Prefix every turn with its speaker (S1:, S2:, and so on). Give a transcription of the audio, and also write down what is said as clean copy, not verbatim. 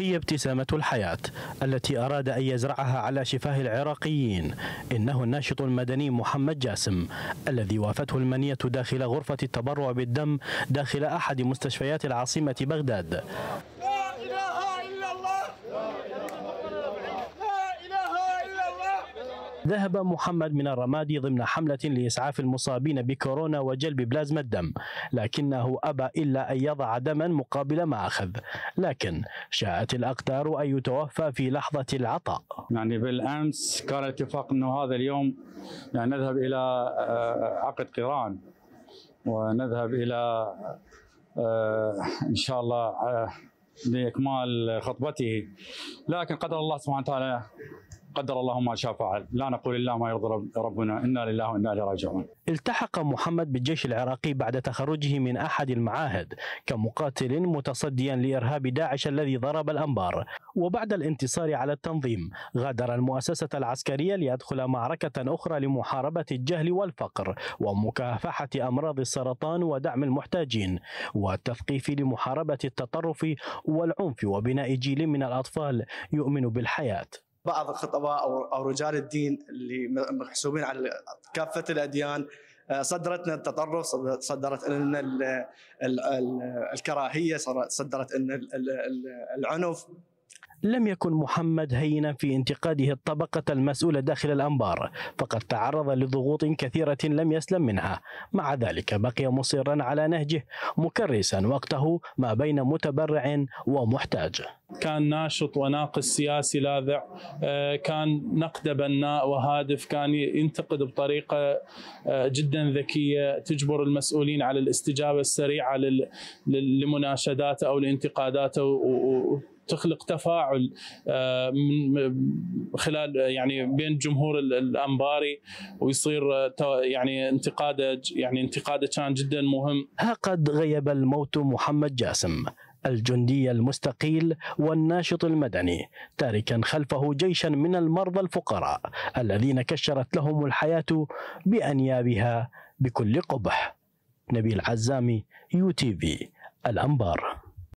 S1: هي ابتسامة الحياة التي أراد أن يزرعها على شفاه العراقيين. إنه الناشط المدني محمد جاسم الذي وافته المنية داخل غرفة التبرع بالدم داخل أحد مستشفيات العاصمة بغداد.
S2: لا إله إلا الله، لا إله إلا الله.
S1: ذهب محمد من الرمادي ضمن حملة لإسعاف المصابين بكورونا وجلب بلازما الدم، لكنه أبى إلا أن يضع دما مقابل ما أخذ، لكن شاءت الأقدار أن يتوفى في لحظة العطاء.
S3: يعني بالأمس كان الاتفاق أنه هذا اليوم يعني نذهب إلى عقد قران ونذهب إلى إن شاء الله لإكمال خطبته، لكن قدر الله سبحانه وتعالى، قدر الله ما شاء فعل، لا نقول إلا ما يرضي ربنا، إنا لله وإنا إليه راجعون.
S1: التحق محمد بالجيش العراقي بعد تخرجه من أحد المعاهد كمقاتل متصديا لإرهاب داعش الذي ضرب الأنبار، وبعد الانتصار على التنظيم غادر المؤسسة العسكرية ليدخل معركة أخرى لمحاربة الجهل والفقر ومكافحة أمراض السرطان ودعم المحتاجين والتثقيف لمحاربة التطرف والعنف وبناء جيل من الأطفال يؤمن بالحياة.
S4: بعض الخطباء أو رجال الدين اللي محسوبين على كافة الأديان صدرت لنا التطرف، صدرت لنا الكراهية، صدرت لنا العنف.
S1: لم يكن محمد هينا في انتقاده الطبقة المسؤولة داخل الأنبار، فقد تعرض لضغوط كثيرة لم يسلم منها، مع ذلك بقي مصرا على نهجه مكرسا وقته ما بين متبرع ومحتاج.
S5: كان ناشط وناقد سياسي لاذع، كان نقد بناء وهادف، كان ينتقد بطريقة جدا ذكية تجبر المسؤولين على الاستجابة السريعة لمناشداته أو لانتقاداته، تخلق تفاعل من خلال يعني بين جمهور الأنباري، ويصير يعني انتقاده كان جدا مهم.
S1: ها قد غيب الموت محمد جاسم الجندي المستقيل والناشط المدني، تاركا خلفه جيشا من المرضى الفقراء الذين كشرت لهم الحياة بأنيابها بكل قبح. نبيل عزامي، UTV الأنبار.